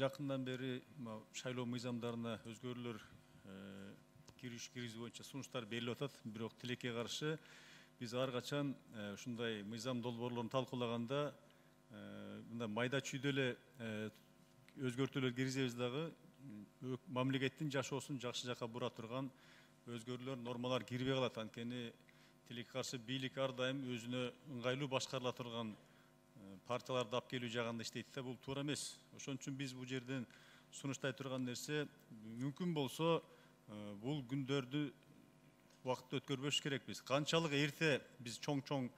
жакындан бери шайлоо мыйзамдарына өзгөрүүлөр киргизүү боюнча сунуштар берилип атат. Бирок тилекке каршы биз ар качан ушундай мыйзам долбоорлорун талкуулаганда мындай майда чүйдө эле өзгөртүүлөр киргизебиз дагы мамлекеттин жашоосун жакшы жакка бура турган өзгөрүүлөр, нормалар кирбей калат. Анткени тилекке каршы бийлик ар дайым өзүнө ыңгайлуу башкарыла турган партияларды алып келүү жагында иштейт да, бул туура эмес. Ошон үчүн биз бул жерден сунуштай турган нерсе, мүмкүн болсо бул күндөрдү убакытты өткөрбөш керекпиз. Канчалык эрте биз чоң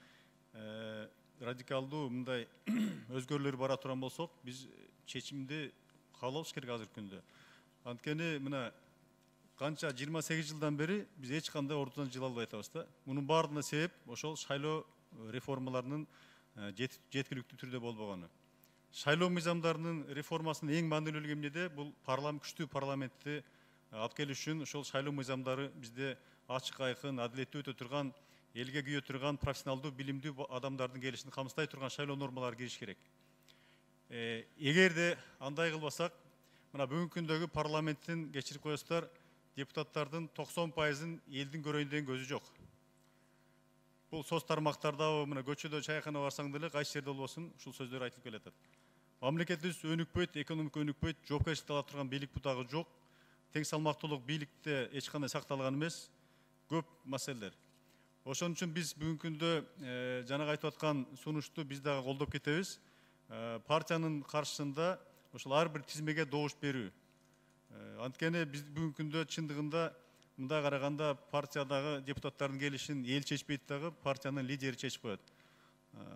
радикалдуу мындай өзгөрүүлөр бара турган болсок, биз чечимди кабыл алыш керек азыркы күндө. Анткени мына канча 28 жылдан бери биз эч кандай ордудан жыла албай атабыз да. Мунун баардыгына себеп ошол шайлоо реформаларынын жеткиликтүү түрдө болбогону. Шайлоо мыйзамдарынын реформасынын эң маанилүүлүгү эмнеде? Бул күчтүү парламентти алып келиш үчүн ошол шайлоо мыйзамдары бизде ачык, айкын, адилеттүү өтө турган, элге күйө турган, профессионалдуу, билимдүү адамдардын келишин камсыздай турган шайлоо нормалары кириш керек. Эгерде андай кылбасак, мына бүгүнкү күндөгү парламенттин, кечирип коесуздар, депутаттардын 90%-ын элдин көрөйүн деген көзү жок. Бул соц тармактарда, мына көчөдө чайкана барсаң деле кайсы жерде болбосун ушул сөздөр айтылып келатат. Мамлекетибиз өнүкпөйт, экономика өнүкпөйт, жоопкерчиликти ала турган бийлик бутагы жок. Тең салмактуулук бийликте эч кандай сакталган эмес. Көп маселелер. Ошон үчүн биз бүгүнкү күндө жанагы айтып аткан сунушту биз дагы колдоп кетебиз. Партиянын каршысында ошол ар бир тизмеге добуш берүү. Анткени биз бүгүнкү күндө чындыгында мындай караганда партиядагы депутаттардын келишин эл чечпейт дагы, партиянын лидери чечип коет.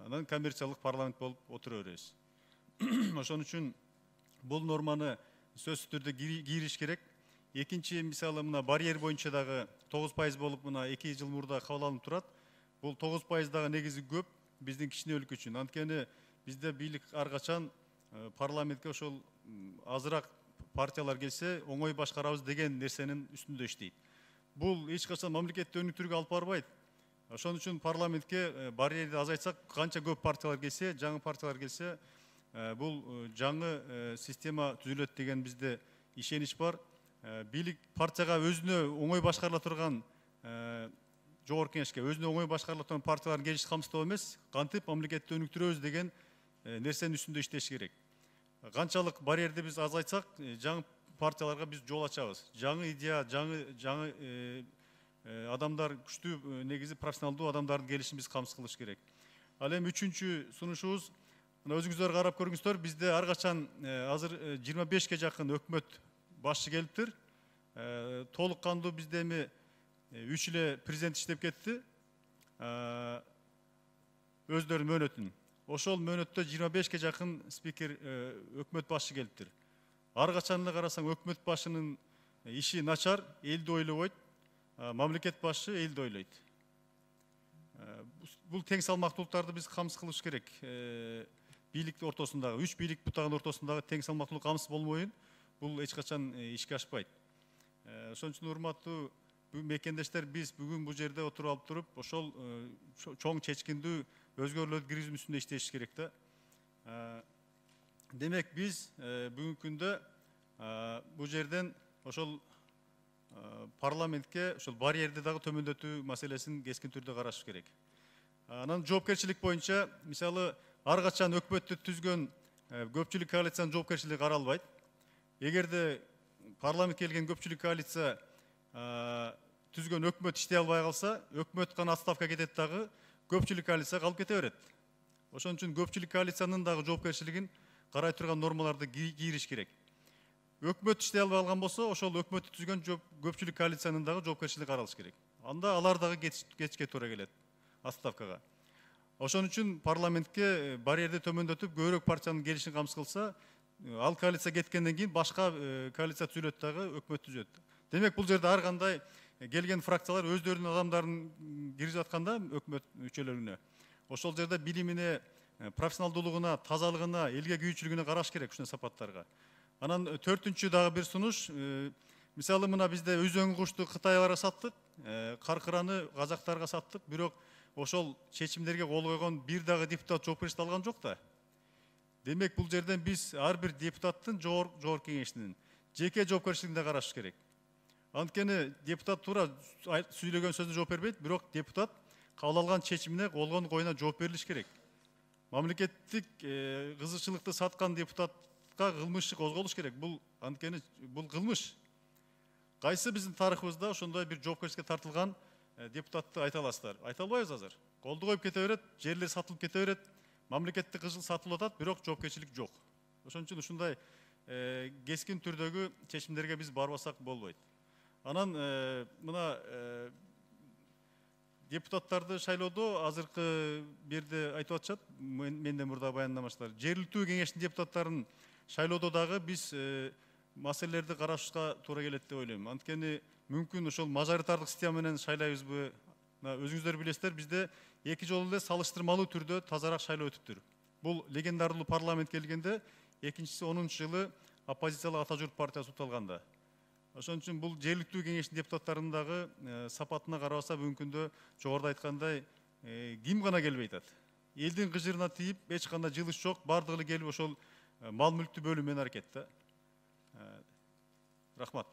Анан коммерциялык парламент болуп отура беребиз. Ошон үчүн бул норманы сөзсүз түрдө кийриш керек. Экинчи мисалы мына барьер боюнча дагы 9% болуп мына 2 жыл мурда кабыл алынып турат. Бул 9% дагы негизи көп биздин кичине өлкө үчүн. Анткени бизде бийлик ар качан парламентке ошол азыраак партиялар келсе оңой башкарабыз деген нерсенин үстүндө иштейт. Бул эч качан мамлекетти өнүктүрүүгө алып барбайт. Ошон үчүн парламентке барьерди азайтсак, канча көп партиялар келсе, жаңы партиялар келсе, бул жаңы система түзүлөт деген бизде ишенич бар. Бийлик партияга өзүнө оңой башкарыла турган жогорку кеңешке өзүнө оңой башкарыла турган партиялардын келишин камсыздоо эмес, кантип мамлекетти өнүктүрөбүз деген нерсенин үстүндө иштеш керек. Канчалык барьерди биз азайтсак, жаңы партияларга биз жол ачабыз. Жаңы идея, жаңы адамдар, күчтүү негизи профессионалдуу адамдардын келишин биз камсыз кылыш керек. Ал эми үчүнчү сунушубуз, мына өзүңүздөр карап көрүңүздөр, бизде ар качан азыр 25ке жакын өкмөт башчы келиптир. Толук кандуу бизде эми 3 эле президент иштеп кетти. Өздөрүнүн мөөнөтүн. Ошол мөөнөттө 25ке жакын спикер өкмөт башчы келиптир. Ар качан эле карасаң өкмөт башчынын иши начар, элди ойлобойт, мамлекет башчы элди ойлойт. Бул тең салмактуулуктарды биз камсыз кылыш керек. Бийлик ортосундагы, 3 бийлик бутагынын ортосундагы тең салмактуулук камсыз болмоюн, бул эч качан ишке ашпайт. Ошон үчүн урматтуу мекендештер, биз бүгүн бул жерде отуруп алып туруп, ошол чоң чечкиндүү өзгөрүүлөрдү киргизүү үстүндө иштешибиз керек да. Демек биз бүгүнкү күндө бул жерден ошол парламентке ошол барьерди дагы төмөндөтүү маселесин кескин түрдө караш керек. Анан жоопкерчилик боюнча, мисалы, ар качан өкмөттү түзгөн көпчүлүк коалициянын жоопкерчилиги каралбайт. Эгерде парламент келген көпчүлүк коалиция түзгөн өкмөт иштей албай калса, өкмөт гана отставка кетет дагы, көпчүлүк коалиция калып кете берет. Ошон үчүн көпчүлүк коалициянын дагы жоопкерчилигин карай турган нормаларды кийриш керек. Өкмөт иштей албай калган болсо, ошол өкмөттү түзгөн көпчүлүк коалициянын дагы жоопкерчилиги каралыш керек. Анда алар дагы кетишке туура келет отставкага. Ошон үчүн парламентке барьерди төмөндөтүп, көбүрөөк партиянын келишин камсыз кылса, ал коалиция кеткенден кийин башка коалиция түзүлөт дагы, өкмөт түзөт. Демек бул жерде ар кандай келген фракциялар өздөрүнүн адамдарын киргизип атканда өкмөт мүчөлөрүнө. Ошол жерде билимине, профессионалдуулугуна, тазалыгына, элге күйүүчүлүгүнө караш керек ушундай сапаттарга. Анан 4-чү дагы бир сунуш, мисалы мына бизде үзөң кушту Кытайга саттык, каркыраны казактарга саттык, бирок ошол чечимдерге кол койгон бир дагы депутат жоопкерчиликти алган жок да. Демек бул жерден биз ар бир депутаттын жогорку кеңешинин жеке жоопкерчилигине караш керек. Анткени депутат туура сүйлөгөн сөзүнө жооп бербейт, бирок депутат кабыл алган чечимине болгон коюна жооп берилиш керек. Мамлекеттик кызыкчылыкты саткан депутатка кылмыш иши козголуш керек. Бул анткени бул кылмыш. Кайсы биздин тарыхыбызда ошондой бир жоопкерчиликке тартылган депутатты айта аласыздар? Айта албайбыз азыр. Колду коюп кете берет, жерлер сатылып кете берет, мамлекеттик кызыл сатылып атат, бирок жоопкерчилик жок. Ошон үчүн ушундай кескин түрдөгү чечимдерге биз барбасак болбойт. Анан мына депутаттарды шайлоодо азыркы бирде айтып атышат, менден мурда баяндамачылар. Жергиликтүү кеңештин депутаттарын шайлоодо дагы биз маселелерди карашышка туура келет деп ойлойм. Анткени мүмкүн ошол мажоритардык система менен шайлайбызбы? Өзүңүздөр билесиздер, бизде эки жолу эле салыштырмалуу түрдө тазараак шайлоо өтүптүр. Бул легендарлуу парламент келгенде, экинчиси 10-жылы оппозициялык Ата журт партиясы уталганда. Ошон үчүн бул жергиликтүү кеңештин депутаттарынын дагы сапатына карабаса, бүгүнкү күндө жогоруда айткандай ким гана келбей атат. Элдин кыжырына тийип, эч кандай жылыш жок, бардыгы эле келип ошол мал мүлктү бөлүү менен аракет да. Рахмат.